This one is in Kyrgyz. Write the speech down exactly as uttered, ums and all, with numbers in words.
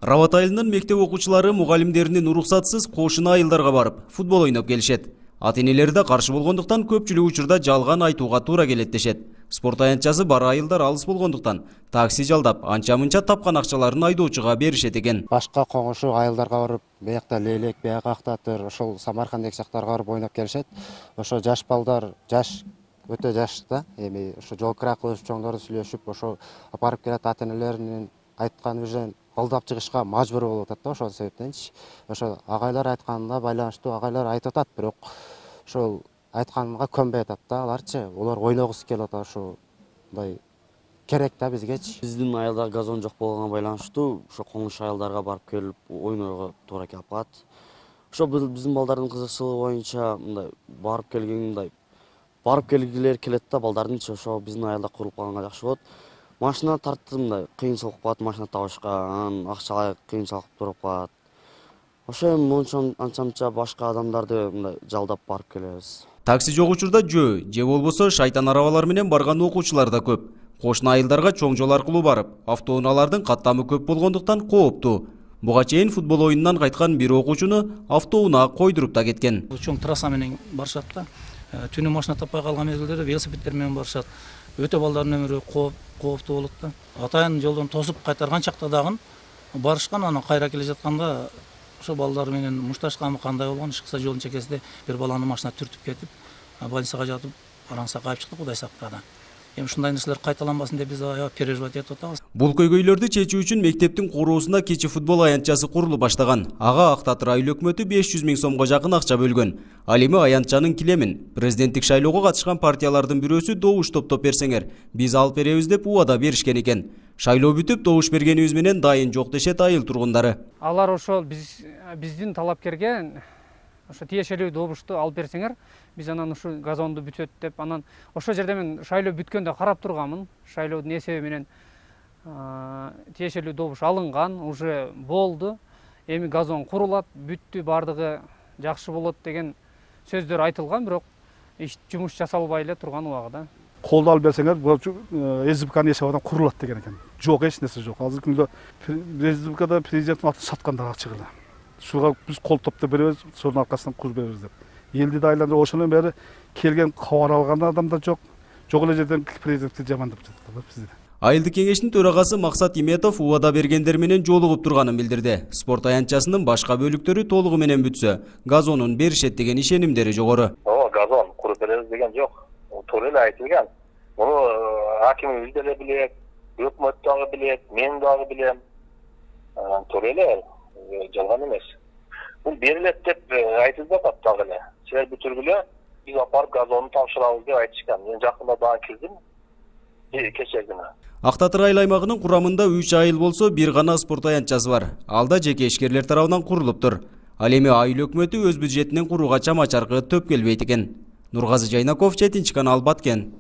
Рабат айылынын мектеп окуучулары мугалимдеринин уруксатсыз кошуна айылдарга барып, футбол ойноп келишет. Ата-энелери да каршы болгондуктан көпчүлүк учурда жалган айтууга туура келет дешет. Спорт аянтчасы бар айылдар алыс болгондуктан такси жалдап, анча-мынча тапкан акчаларын айдоочуга беришет экен. Башка коңушу айылдарга барып, биякта Лелек, бияка Актатыр, ошол Самарканд деги жактарга барып ойноп келишет. Ошо жаш балдар, жаш өтө жашта, эми ошо жол кыра кылышып, чоңдорду сүйлөшүп, ошо апарып келет ата-энелеринин айткан үжөн колдоп чыгышка мажбур болуп атат да, ошол себептенчи. Ошо агайлар айтканына байланыштуу агайлар айтып атат, бирок ошол айтканга көнбөй атат да аларчы. Олар ойногусу келип атат, ошо мындай керек да бизгечи. Биздин айылда газон жок болгонго байланыштуу ошо коңуш айылдарга барып келип ойнойго туура келип калат. Ошо биздин балдардын кызыкчылыгы боюнча мындай барып келген мындай барып келгилер келет да балдардынчы, ошо биздин айылда курулуп калганга жакшы болот. Машина тартты мындай кыйынчылык болуп калат, машина табышка, анан акчага кыйынчылык туруп калат. Ошо эми мончон анча-мынча башка адамдарды мындай жалдап барып келебиз. Такси жок учурда жөө, же болбосо шайтан арабалар менен барган окуучулар да көп. Кошуна айылдарга чоң жол аркылуу барып, автоунаалардын каттамы көп болгондуктан кооптуу. Буга чейин футбол оюнунан кайткан бир окуучуну автоунаа койдуруп да кеткен. Чоң трасса менен барышат да. Түнү машина таппай калган мезгилдерде велосипеддер менен барышат. Өтө балдардын өмүрү кооптуу болот да. Атайын жолдон тосуп кайтарган чакта дагы барышкан, анан кайра келе жатканда ошо балдар менен мушташканбы кандай болгон, ишкыса жолдун чекесинде бир баланы машина түртүп кетип, больницага жатып, араңса кайып чыкты, Кудай сактады. Эми ушундай нерселер кайталанбасын деп биз аябай переживать этип атабыз. Бул көйгөйлөрдү чечүү үчүн мектептин куруусунда кичи футбол аянтчасы курулуп баштаган. Ага Актатыр айыл өкмөтү беш жүз миң сомго жакын акча бөлгөн. Ал эми аянтчанын килемин президенттик шайлоого катышкан партиялардын бирөөсү добуш топтоп берсеңер, биз алып беребиз деп убада беришкен экен. Шайлоо бүтүп, добуш бергенибиз менен дайын жок дешет айыл тургундары. Алар ошол биз биздин талапкерге ошо тиешелүү добушту алып берсеңер, биз анан ушу газонду бүтөт деп, анан ошол жерде мен шайлоо бүткөндө карап турганмын. Шайлоодун эсеби менен тиешелүү добуш алынган, уже болду. Эми газон курулат, бүттү, бардыгы жакшы болот деген сөздөр айтылган, бирок иш жумуш жасалбай эле турган убагында. Колду алып берсеңер, бул СБКнын эсебинен курулат деген экен. Жок, эч нерсе жок. Азыркы күндө СБКда президенттин атын саткандар чыгылды. Шуга биз кол топтоп беребиз, сонун аркасынан кур беребиз деп. Элди да айландырып, ошонун бери келген кабар алган адам да жок. Жок эле жерден президентти жамандап жатат бизди. Айылдык кеңештин төрагасы Максат Иметов убада бергендер менен жолугуп турганын билдирди. Спорт аянтчасынын башка бөлүктөрү толугу менен бүтсө, газонун беришет деген ишенимдери жогору. О, газон куруп беребиз деген жок. Туура эле айтылган. Муну акимибиз деле билет, өкмөт дагы билет, мен дагы билем. Туура эле жалган эмес. Бул берилет деп айтылып атат дагы эле. Силер бүтүргүлө, биз апарып газонду тапшырабыз деп айтышкан. Мен жакында дагы кирдим. Кечээ күнү. Актатыр айыл аймагынын курамында үч айыл болсо, бир гана спорт аянтчасы бар. Ал да жеке ишкерлер тарабынан курулуптур. Ал эми айыл өкмөтү өз бюджетинен курууга чама-чаркы төп келбейт экен. Нургазы Жайнаков, жетинчи канал, Баткен.